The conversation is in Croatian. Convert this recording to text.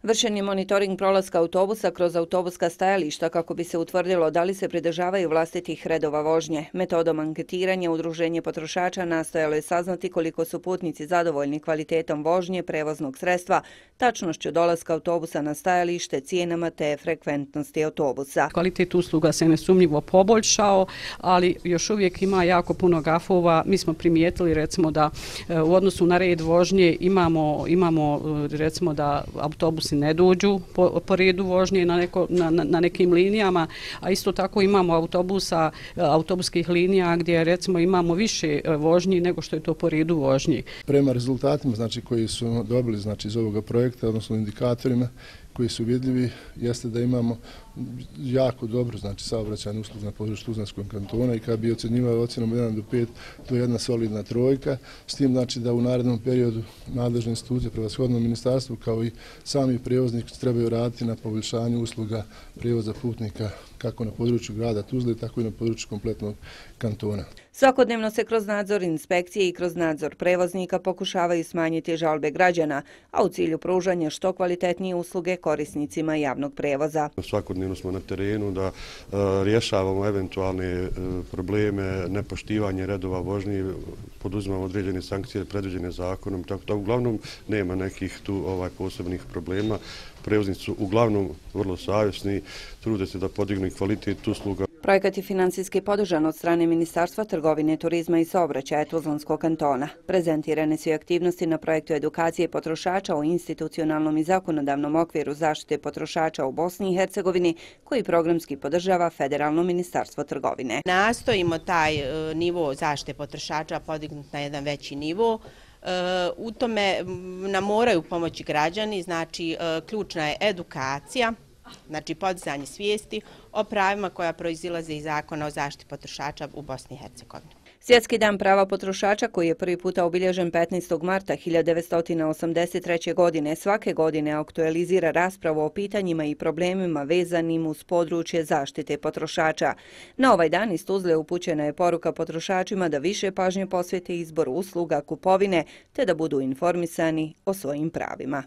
Vršen je monitoring prolaska autobusa kroz autobuska stajališta kako bi se utvrdilo da li se pridržavaju vlastitih redova vožnje. Metodom anketiranja Udruženje potrošača nastojalo je saznati koliko su putnici zadovoljni kvalitetom vožnje prevoznog sredstva, tačnošću dolaska autobusa na stajalište, cijenama te frekventnosti autobusa. Kvalitet usluga se nesumnjivo poboljšao, ali još uvijek ima jako puno gafova. Mi smo primijetili recimo da u odnosu na red vožnje imamo recimo da autobusi ne dođu po redu vožnje na nekim linijama, a isto tako imamo autobuskih linija gdje recimo imamo više vožnji nego što je to po redu vožnji. Prema rezultatima koji su dobili iz ovoga projekta, odnosno indikatorima koji su vidljivi, jeste da imamo jako dobro saobraćajnu uslugu na području Tuzlanskog kantona i kad bi ocjenjivali ocjenom 1 do 5, to je jedna solidna trojka, s tim da u narednom periodu nadležne institucije, prevashodno ministarstvo kao i sami prijevoznici trebaju raditi na poboljšanju usluga prijevoza putnika kako na području grada Tuzle, tako i na području kompletnog kantona. Svakodnevno se kroz nadzor inspekcije i kroz nadzor prevoznika pokušavaju smanjiti žalbe građana, a u cilju pružanja što kvalitetnije usluge korisnicima javnog prevoza. Svakodnevno smo na terenu da rješavamo eventualne probleme, nepoštivanje redova vožnje, poduzimamo određene sankcije predviđene zakonom, tako da uglavnom nema nekih tu posebnih problema. Prevoznici su uglavnom vrlo savjesni, trude se da podignu kvalitet usluga. Projekat je financijski podržan od strane Ministarstva trgovine, turizma i saobraćaja Tuzlanskog kantona. Prezentirane su i aktivnosti na projektu edukacije potrošača o institucionalnom i zakonodavnom okviru zaštite potrošača u Bosni i Hercegovini, koji programski podržava Federalno ministarstvo trgovine. Nastojimo taj nivo zaštite potrošača podignuti na jedan veći nivo. U tome nam moraju pomoći građani, znači ključna je edukacija, znači podizanje svijesti o pravima koja proizilaze iz Zakona o zaštiti potrošača u Bosni i Hercegovini. Svjetski dan prava potrošača, koji je prvi puta obilježen 15. marta 1983. godine, svake godine aktualizira raspravu o pitanjima i problemima vezanim uz područje zaštite potrošača. Na ovaj dan iz Tuzle upućena je poruka potrošačima da više pažnje posvete izboru usluga kupovine te da budu informisani o svojim pravima.